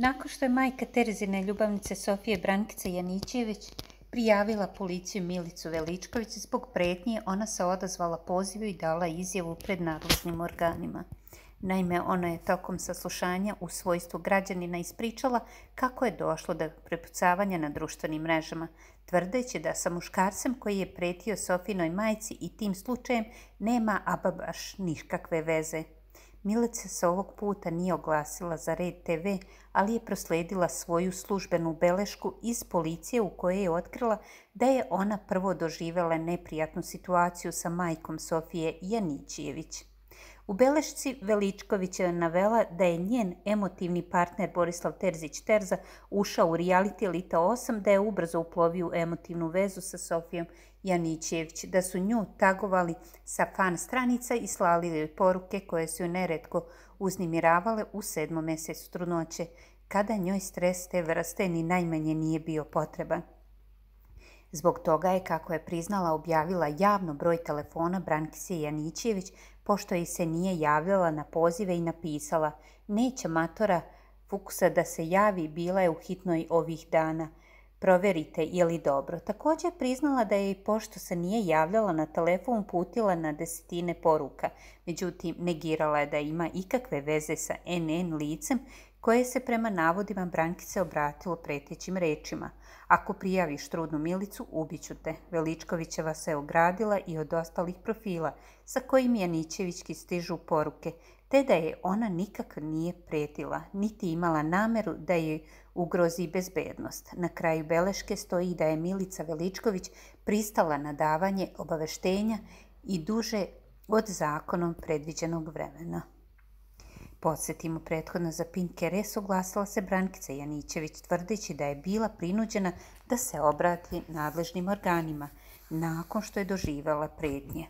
Nakon što je majka Terezine ljubavnice Sofije Brankice Janićević prijavila policiju Milicu Veličković zbog pretnje, ona se odazvala pozivu i dala izjavu pred nadležnim organima. Naime, ona je tokom saslušanja u svojstvu građanina ispričala kako je došlo do prepucavanja na društvenim mrežama, tvrdeći da sa muškarcem koji je pretio Sofinoj majci i tim slučajem nema ama baš nikakve veze. Milica se ovog puta nije oglasila za Red TV, ali je prosledila svoju službenu belešku iz policije u kojoj je otkrila da je ona prvo doživjela neprijatnu situaciju sa majkom Sofije Janićević. U belešci Veličković je navela da je njen emotivni partner Borislav Terzić-Terza ušao u reality Elita 8, da je ubrzo uplovio u emotivnu vezu sa Sofijom Janićević, da su nju tagovali sa fan stranica i slali joj poruke koje su joj neretko uznemiravale u 7. mjesecu trudnoće, kada njoj stres te vrste ni najmanje nije bio potreban. Zbog toga je, kako je priznala, objavila javno broj telefona Brankice Janićević, pošto joj se nije javljala na pozive i napisala: "Neće matora Fukusa da se javi, bila je u hitnoj ovih dana. Proverite je li dobro." Također je priznala da je, pošto se nije javljala na telefon, uputila na desetine poruka. Međutim, negirala je da ima ikakve veze sa NN licem koje se prema navodima Brankice obratilo pretećim rečima: "Ako prijaviš trudnu Milicu, ubiću te." Veličkovićeva se ogradila i od ostalih profila sa kojim Janićevićki stižu poruke, te da je ona nikak nije pretila, niti imala nameru da joj ugrozi bezbednost. Na kraju beleške stoji da je Milica Veličković pristala na davanje obaveštenja i duže od zakonom predviđenog vremena. Podsjetimo, prethodno za Pink RS oglasila se Brankica Janićević, tvrdeći da je bila prinuđena da se obrati nadležnim organima nakon što je doživjela pretnje.